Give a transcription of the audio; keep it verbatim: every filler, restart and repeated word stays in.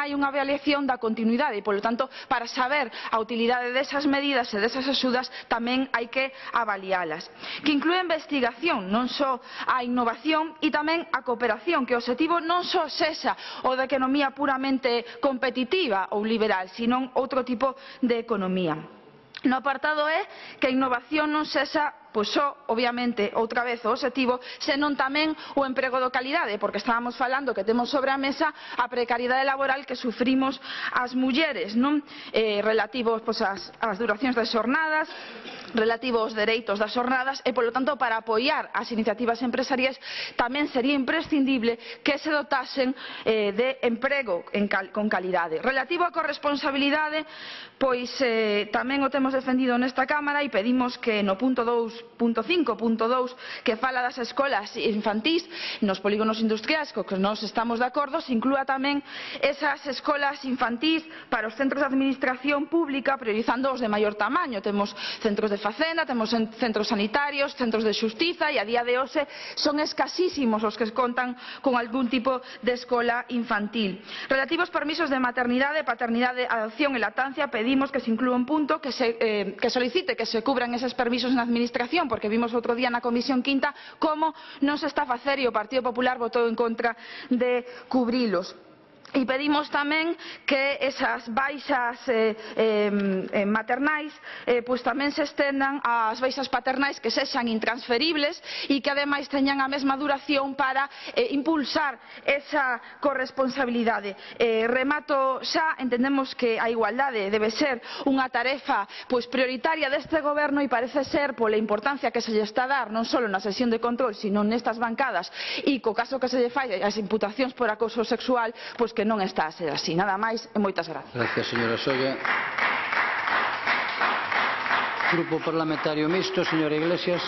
hai unha avaliación da continuidade e, polo tanto, para saber a utilidade desas medidas e desas axudas tamén hai que avalialas. Que inclúe a investigación, non só a innovación e tamén a cooperación, que o obxectivo non só sexa o da economía puramente competitiva ou liberal, sino outro tipo de economía. No apartado E, que a innovación non sexa pois só, obviamente, outra vez o obxectivo, senón tamén o emprego de calidade, porque estábamos falando que temos sobre a mesa a precariedade laboral que sufrimos as mulleres, non? Eh, relativos pois, ás, ás duracións das xornadas, relativo aos dereitos das xornadas e, polo tanto, para apoiar as iniciativas empresariais tamén sería imprescindible que se dotasen eh, de emprego en cal, con calidade. Relativo á corresponsabilidade, pois eh, tamén o temos defendido nesta Cámara e pedimos que no punto dous punto cinco punto dous que fala das escolas infantís nos polígonos industriais, co que nós estamos de acordo, se inclúa tamén esas escolas infantís para os centros de administración pública, priorizando os de maior tamaño. Temos centros de facenda, temos centros sanitarios, centros de xustiza e a día de hoxe son escasísimos os que contan con algún tipo de escola infantil. Relativo aos permisos de maternidade, paternidade, adopción e lactancia, pedimos que se inclúa un punto que, se, eh, que solicite que se cubran eses permisos na administración, porque vimos outro día na Comisión Quinta como non se está a facer e o Partido Popular votou en contra de cubrilos. E pedimos tamén que esas baixas eh, eh, maternais eh, pues tamén se estendan ás baixas paternais que sexan intransferibles e que ademais teñan a mesma duración para eh, impulsar esa corresponsabilidade. Eh, remato xa, entendemos que a igualdade debe ser unha tarefa pues, prioritaria deste goberno e parece ser pola importancia que se lle está a dar non só na sesión de control, sino nestas bancadas e co caso que se lle fai as imputacións por acoso sexual, pois que non está a ser así. Nada máis e moitas gracias. Gracias, señora Solla. Grupo Parlamentario Mixto, señora Iglesias.